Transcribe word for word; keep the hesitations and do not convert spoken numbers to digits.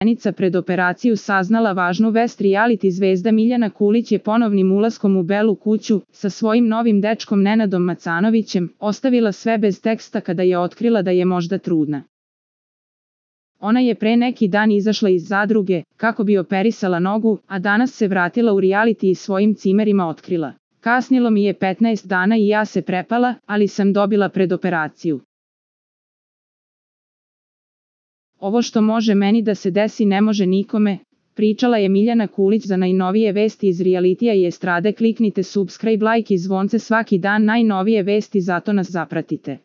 meseca pred operaciju saznala važnu vest, reality zvezda Miljana Kulić je ponovnim ulaskom u Belu kuću, sa svojim novim dečkom Nenadom Macanovićem, ostavila sve bez teksta kada je otkrila da je možda trudna. Ona je pre neki dan izašla iz zadruge, kako bi operisala nogu, a danas se vratila u reality i svojim cimerima otkrila: kasnilo mi je petnaest dana i ja se prepala, ali sam dobila predoperaciju. Ovo što može meni da se desi ne može nikome, pričala je Miljana Kulić. Za najnovije vesti iz realitija i estrade kliknite subscribe, like i zvonce svaki dan, najnovije vesti, zato nas zapratite.